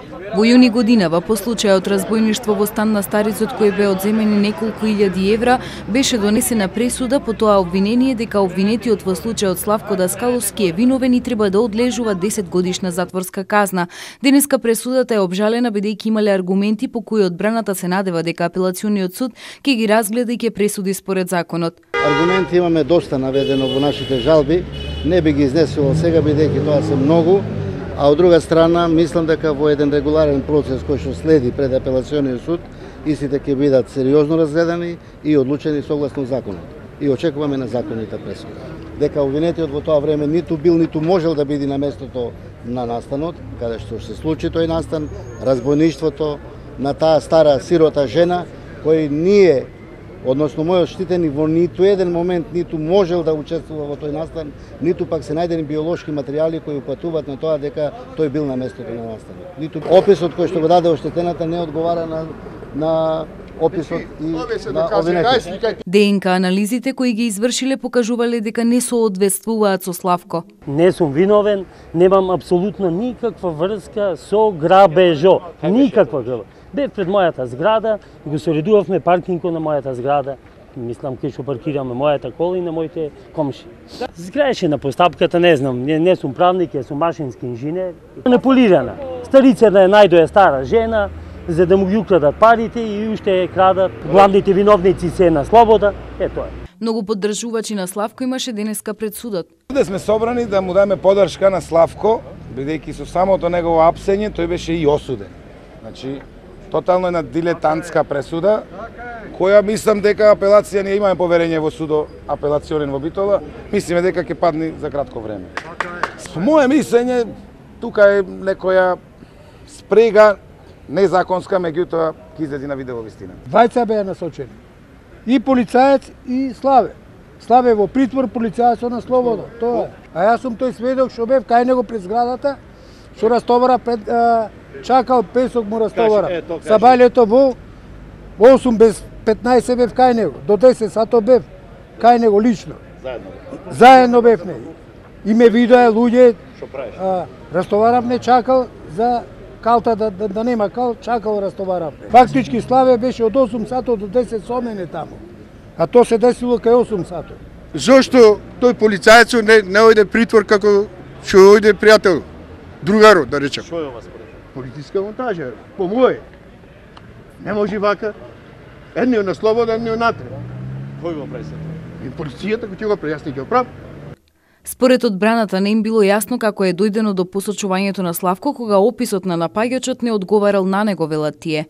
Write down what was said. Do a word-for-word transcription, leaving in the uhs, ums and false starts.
Во јуни годинава, по случајот разбојништво во стан на старицот кој бе одземени неколку илјади евра, беше донесена пресуда по тоа обвинение дека обвинетиот во случајот Славко Даскаловски е виновен и треба да одлежува десет годишна затворска казна. Денеска пресудата е обжалена бидејќи имале аргументи по кои одбраната се надева дека апелациониот суд ќе ги разгледа и ќе пресуди според законот. Аргументи имаме доста наведено во нашите жалби, не би ги изнесувал сега бидејќи тоа се многу. А од друга страна, мислам дека во еден регуларен процес кој што следи пред апелациониот суд, истите ќе бидат сериозно разгледани и одлучени согласно законот. И очекуваме на законите пресуди. Дека обвинетиот во тоа време ниту бил, ниту можел да биде на местото на настанот, каде што се случи тој настан, разбойништвото на таа стара сирота жена, кој ние, односно мојот штитени, во ниту еден момент ниту можел да учествува во тој настан, ниту пак се најдени биолошки материјали кои упатуваат на тоа дека тој бил на местото на настанот. Ниту описот кој што го даде оштетената не одговара на, на описот и на обвинетиот. ДНК анализите кои ги извршиле покажувале дека не соодветствуваат со Славко. Не сум виновен, немам апсолутно никаква врска со грабежо, никаква грабежо. Бев пред мојата зграда, го соредувавме паркингот на мојата зграда. Мислам кај што паркираме мојата кола и на моите комши. Зграеше на постапката, не знам, не, не сум правник, ја сум машински инженер. Манипулирана. Старицата е најдоја стара жена, за да му ги украдат парите и уште ја крадат. Главните виновници се на слобода, е тоа. Многу поддржувачи на Славко имаше денеска пред судот. Овде сме собрани да му дадеме поддршка на Славко, бидејќи со самото негово апсење тој беше и осуден. Значи, тотално една дилетантска пресуда, која мислам дека апелација ние имаме поверење во судо апелационен во Битола, мислиме дека ќе падне за кратко време. По моје мислење, тука е некоја спрега незаконска, меѓутоа ќе излезе на видео вистина. Двајца беа насочени. И полицаец и Славе. Славе во притвор, полицајецот на слобода. Тоа е. А јас сум тој сведок што бев кај него пред зградата, што растовара пред а, чакал песок му растовара. Сабајлето во осум без петнаесет бев кај него, до десет сато бев кај него лично. Заедно. Заедно бев не. И ме видоа луѓе. Што правиш? Растоварав не чакал за калта да, да, да нема кал, чакал растоварав. Фактички Славе беше од осум сато до десет со мене таму. А то се десило кај осум сато. Зошто тој полицајецот не, не ојде притвор како што ојде пријател, другаро, да речем? Што е ова според? Политичка монтажа, по моје. Не може вака. Едниот на слобода, едниот натре. Кој го прави се тоа? И полицијата кој ќе го прави, јас не ќе го правам. Според одбраната не им било јасно како е дојдено до посочувањето на Славко кога описот на напаѓачот не одговарал на него, велат тие.